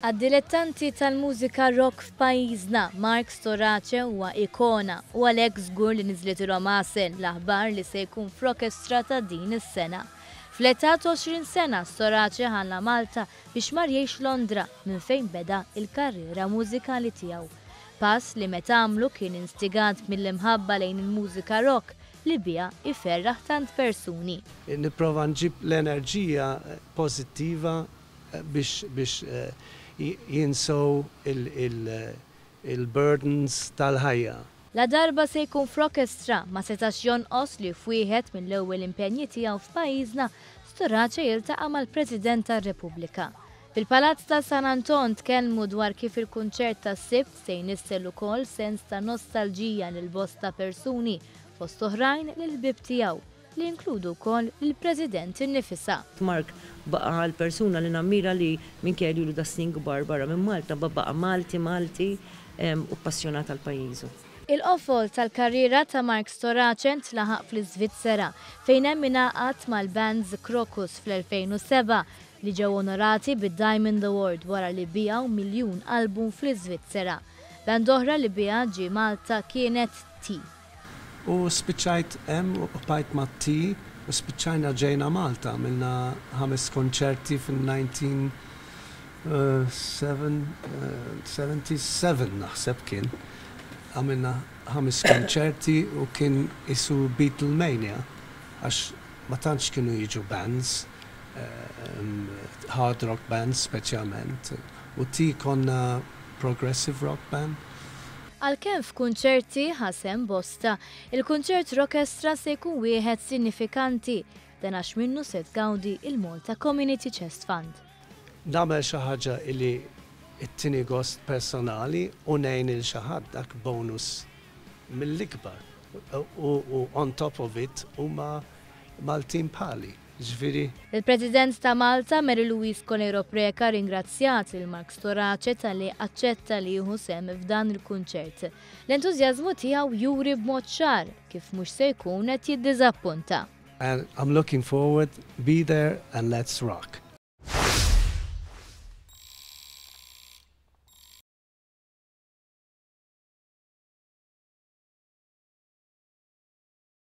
Għad-dilettanti tal-mużika rock f'pajjiżna, Mark Storace huwa ikona u għalhekk żgur li niżlitilhom għasel l-aħbar li se jkun f'Rockestra ta' din is-sena. Fl-età t'20 sena, Storace ħalla Malta biex mar jgħix Londra minn fejn beda l-karriera mużikali tiegħu. Pass li meta għamlu kien instigat mill-imħabba lejn il-mużika rock li biha jferraħ tant persuni. Nipprova nġib l-enerġija pożittiva biex biex jinsew il-burdens tal-ħajja. Ladarba se jkun f'Rockestra, ma setax jonqos li f'wieħed mill-ewwel impenji tiegħu f'pajjiżna, Storace jiltaqa' mal-President tar-Repubblika. Fil-Palazz ta' San Anton tkellmu dwar kif il-kunċert tas-Sibt se jnissel ukoll sens ta' nostalġija lil bosta persuni, fost oħrajn lill-ħbieb tiegħu. li jinkludu wkoll lill-President innifisha. Mark baqa' l-persuna li nammira li minkejja li ilu da snin kbar barra minn Malta baqa' Malti Malti u ppassjonat għal pajjiżu. Il-qofol tal-karriera ta' Mark Storace ntlaħaq fl-Iżvizzera, fejn hemm ingħaqad mal-bands Krokus fl-2007, li ġew onorati bid-Diamond Award wara li biegħu miljun album fl-Iżvizzera. Band oħra li biha ġie Malta kienet T. U spiċċajt hemm u bqajt mat-T u spiċċajna ġejna Malta, għamilna ħames konċerti fin-1977 naħseb kien. Għamilna ħames konċerti u kien qisu Beatlemania għax ma tantx kienu jiġu bands, hard rock bands speċjalment, u T konna progressive rock band. Għalkemm f'kunċerti ħa sehem bosta, il-kunċert Rockestra se jkun wieħed sinifikanti, dan għax minnu se tgawdi il-Malta Community Chest Fund. Nagħmel xi ħaġa li ttini gost personali u ngħin 'il xi ħadd dak bonus mill-ikbar u on top of it huma Maltin bħali. Jiġifieri. Il-President ta' Malta, Mary Louise Coleiro Preca rringrazzjat lil Mark Storace talli aċċetta li jieħu sehem f'dan il-kunċert. L-entużjażmu tiegħu juri b'mod ċar kif mhux se jkun qed jiddiżappunta. And I'm looking forward, be there and let's rock.